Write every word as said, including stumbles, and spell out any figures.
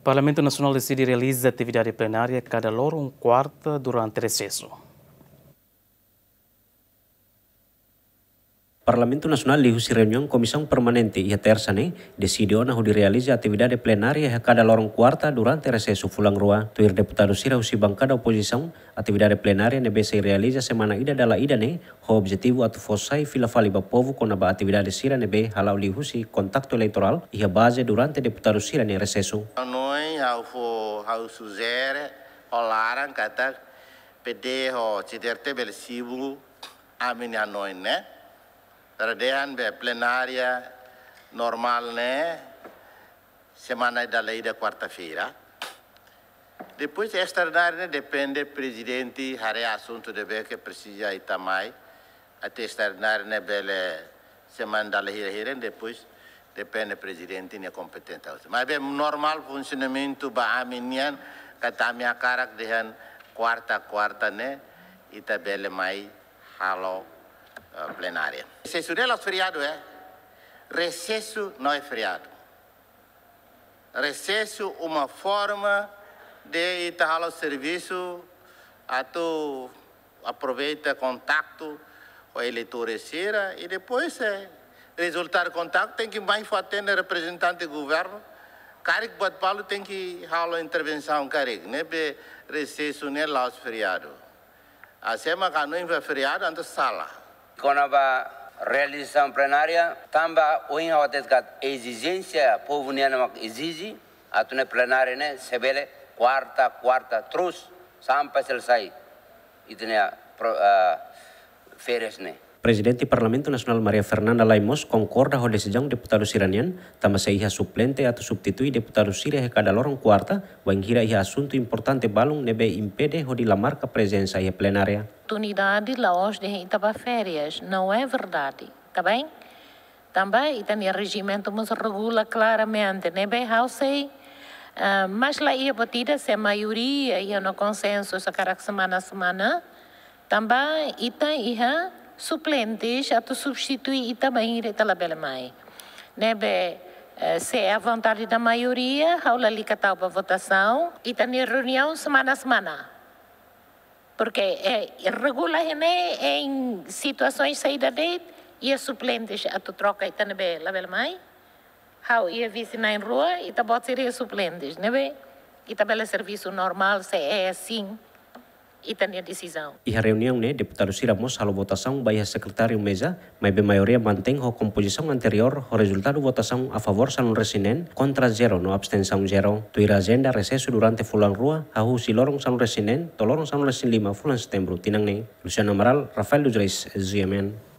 Parlamentu Nasionál deside realiza atividade plenária kada loron kuarta durante resesu. Parlamentu Nasionál liuhusi reuniaun Komisaun Permanente iha Tersa ne'e deside ona hodi realiza atividade plenária iha kada loron kuarta durante resesu fulan rua. Tuir deputadu sira husi bankada opozisaun, atividade plenária ne'ebé sei realiza semana ida dala ida ne'e ho objetivu atu fó sai fila fali ba povu kona-ba atividade sira ne'ebé hala'o liuhusi kontaktu eleitorál iha baze durante deputadu sira-nia resesu. Hanoin, ha'u fó, ha'u sujere ho laran katak P D ho C D R T bele simu ami-nia hanoin ne'e. Para dehan be plenária normál ne'e semana dala ida kuarta-feira. Depois estraordinária ne'e depende prezidente haree asuntu ne'ebé ke presiza ita mai. Atu estraordinária ne'e bele semana dala hira-hira, depois depende prezidente nia kompeténsia. Mas be normál funsionamentu ba ami nian, katak ami hakarak dehan kuarta, kuarta ne'e ita bele mai halo, eh, plenária. Resesu ne'e la'ós feriadu, eh. Resesu não é feriado. Resesu uma forma de ita halo servisu atu aproveita kontaktu ho eleitores sira i depois, eh, rezultadu kontaktu tenke mai fó atende reprezentante governu, karik buat balu tenke halo intervensaun karik, ne'ebé resesu ne'e la'ós feriadu. Hanesan ema hanoin feriadu entaun sala. Kona-ba realizasaun plenária, tanba ohin ha'u hatete katak ezijénsia povu nian mak ezije, atu nune'e plenária ne'e se bele kuarta, kuarta terus sampai selesai ita-nia pro-, ah, férias ne'e. Prezidente Parlamentu Nasionál Maria Fernanda Lay mós konkorda ho desizaun deputadu sira-nian, tanba sei iha suplente atu substitui deputadu sira iha kada loron kuarta, bainhira iha asuntu importante balun ne'ebé impede hodi la marka prezensa iha plenária. Oportunidade la'ós dehan ita bá férias, não é verdade, tá bem? Tanba ita-nia rejimentu mós regula klaramente, ne'ebé ha'u sei, ah, mas la iha buat ida se maioria iha ona konsensu hakarak semana-semana, tanba ita iha suplentes atu substitui ita bainhira ita labele mai. Ne'ebé, eh, se é a vontade da maioria, ha'u lalika tau ba votasaun, ita-nia reuniaun semana-semana. Porque, eh, regula ne'e em situasaun saida de'it, iha suplentes atu troka ita ne'ebé labele mai. Ha'u iha vise na'in-rua, ita-boot sira iha suplentes, ne'ebé ita bele servisu normál, se é assim ita-nia desizaun. Iha reuniaun ne'e, deputadu sira mós halo votasaun ba iha sekretáriu meza, maibé maioria mantein ho kompozisaun anteriór, ho rezultadu votasaun a favór sanulu-resin-neen, kontra zero no abstensaun zero. Tuir ajenda resesu durante fulan rua, hahú husi loron sanulu-resin-neen to'o loron sanulu-resin-lima fulan Setembru tinan ne'e. Luciano Amaral, Rafael dos Reis, G M N.